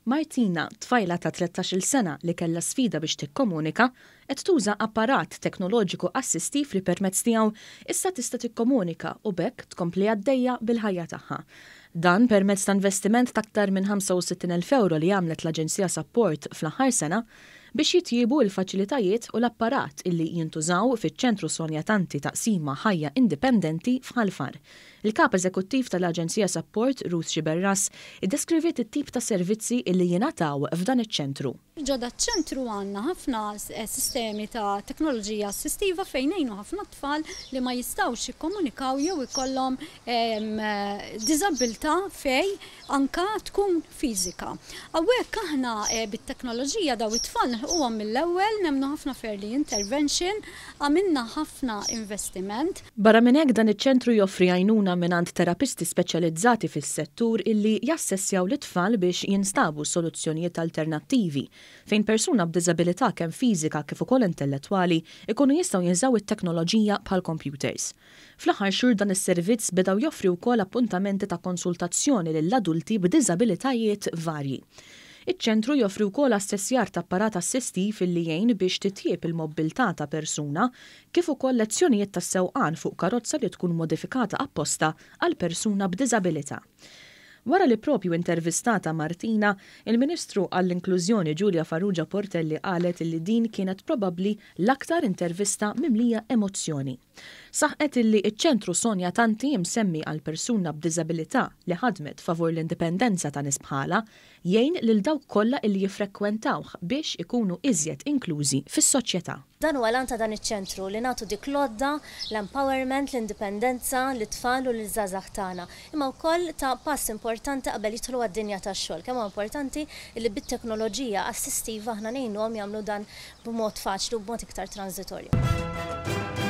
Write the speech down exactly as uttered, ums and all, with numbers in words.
Martina, tfajla ta' tlettax-il sena li kellha sfida biex tikkomunika, qed tuża apparat teknoloġiku assistiv li permezz tiegħu issa tista' tikkomunika u b'hekk tkompli għaddejja bil-ħajja tagħha. Dan permezz ta' investiment ta' aktar minn ħamsa u sittin elf euro li għamlet l-Aġenzija Sapport fl-aħħar sena biex jitjiebu l-faċilitajiet u l-apparat illi jintużaw fiċ-Ċentru Sonja Tanti Taqsima Ħajja Indipendenti f'Ħal Far. Il-kap eżekuttiv tal-Aġenzija Sapport, Ruth Sciberras, iddeskriviet it-tip ta' servizzi illi jingħataw f'dan iċ-ċentru. Ġo daċ-ċentru għandna ħafna sistemi ta' teknoloġija assistiva fejn ngħinu ħafna tfal li ma jistgħux jikkomunikaw jew ikollhom diżabilità fejn anka tkun fiżika. Hawnhekk aħna eh, bit-teknoloġija daw it-tfal nilħquhom mill-ewwel, nemmnu ħafna f'early intervention, għamilna ħafna investiment. Barra minn hekk, dan iċ-ċentru joffri għajnuna mingħand terapisti speċjalizzati fis-settur illi jassessjaw l-tfal biex jinstabu soluzzjonijiet alternattivi fejn persuna b'diżabilità kemm fiżika kif ukoll intellettwali ikunu jistgħu jużaw it-teknoloġija bħal computers. Fl-aħħar xhur dan is-servizz beda joffri wkoll appuntamenti ta' konsultazzjoni lill-adulti b'diżabilitajiet varji. Iċ-ċentru joffri wkoll assessjar ta' apparat assistiv illi jgħin biex titjieb il-mobilità ta' persuna, kif ukoll lezzjonijiet ta' sewqan fuq karozza li tkun modifikata apposta għal persuna b'diżabilità. Wara li propju intervistata Martina, il-Ministru għall-Inklużjoni Julia Farrugia Portelli qalet li din kienet probabbli l-aktar intervista mimlija emozzjoni. Saħqet illi iċ-Ċentru Sonja Tanti, msemmi għal persuna b'diżabilità li ħadmet favur l-indipendenza ta' nies bħalha, jgħin lil dawk kollha illi jiffrekwentawh biex ikunu iżjed inklużi fis-soċjetà. Dan huwa l-għan ta' dan iċ-ċentru, li nagħtu dik l-għodda, l-empowerment, l-indipendenza, lit-tfal u l-żgħażagħ tagħna. Imma wkoll ta' pass importanti qabel jidħlu għad-dinja tax-xogħol. Kemm huwa importanti li bit-teknoloġija assistiva aħna ngħinuhom jagħmlu dan b'mod faċli u b'mod iktar transitorju.